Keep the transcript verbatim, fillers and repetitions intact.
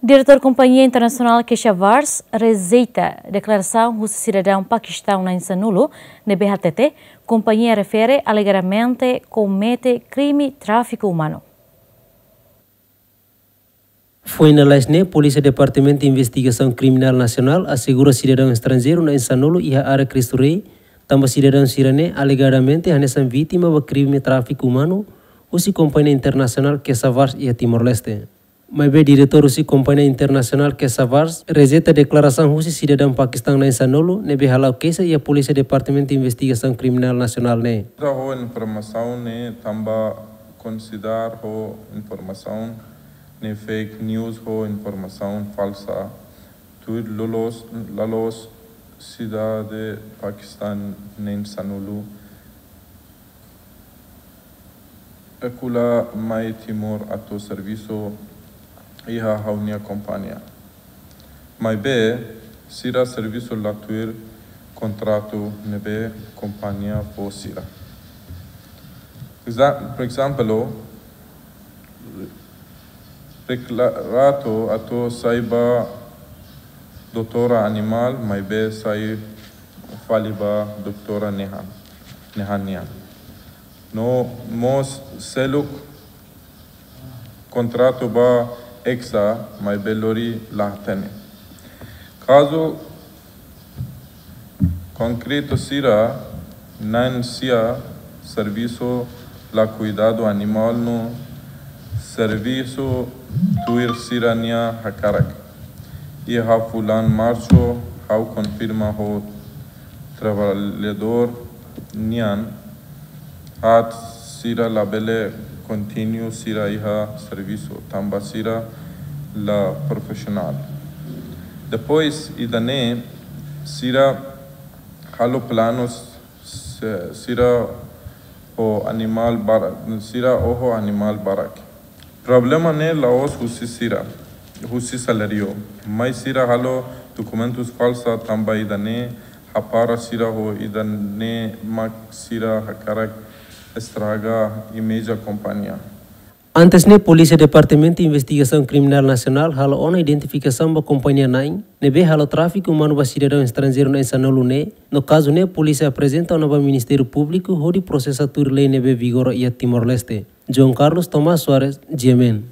Diretór Kompañia Internasionál Keshavars rejeita deklarasaun husi sidadaun Pakistão na'in sanulu ne'ebé hatete kompañia refere alegadamente komete krime tráfiku umanu. Foin lalais ne'e, Polísia Departamentu Investigasaun Kriminál Nasionál asegura sidadaun estranjeiru na'in sanulu iha área Cristo Rei, tanba sidadaun sira-ne'e alegadamente hanesan vítima ba krime tráfiku umanu husi kompañia internasionál Keshavars iha Timor-Leste. Maibé diretór husi kompañia internasionál Keshavars rejeita deklarasaun husi sidadaun Pakistão na'in sanulu ne'ebé hala'o keixa iha Polísia Departamentu Investigasaun Kriminál Nasionál ne'e. Ho informasaun ne'e tanba konsidera ho informasaun ne'e fake news ho informasaun falsa. Tuir loloos, loloos sidadaun Pakistão na'in sanulu espekuladór mai Timor atu servisu iha ha'u-nia kompañia. Maibé, sira servisu la tuir kontratu ne'ebé kompañia fó sira. Exa-, por ezemplu, deklara atu sai ba doutora animál, maibé sai fali ba doutora nehan, nehan nian. No mós seluk kontratu ba Hexa, maibé lori la hatene. Kazu konkretu sira, na'in sia servisu la kuidadu animál no servisu tuir sira-nia hakarak. Iha fulan Marsu, ha'u konfirma ho traballadór nian, atu sira labele kontinua sira iha servisu, tanba sira la profisionál. Depois, ida-ne'e, sira halo planus, se-, sira ho animál barak, sira oho animál barak. Problema ne'e la'ós husi sira, husi saláriu. Mai sira halo dokumentus falsa tanba ida-ne'e hapara sira ho ida-ne'e mak sira hakarak estraga imeji kompañia. Antes ne'e, Polísia Departamentu Investigasaun Kriminál Nasionál halo ona identifikasaun ba kompañia na'in ne'ebé halo tráfiku umanu ba sidadaun estranjeiru na'in sanulu ne'e, no kazu ne'e polísia aprezenta ona ba Ministériu Públiku hodi prosesa tuir lei ne'ebé vigora iha Timor-Leste. João Carlos Tomás Soares, G M N.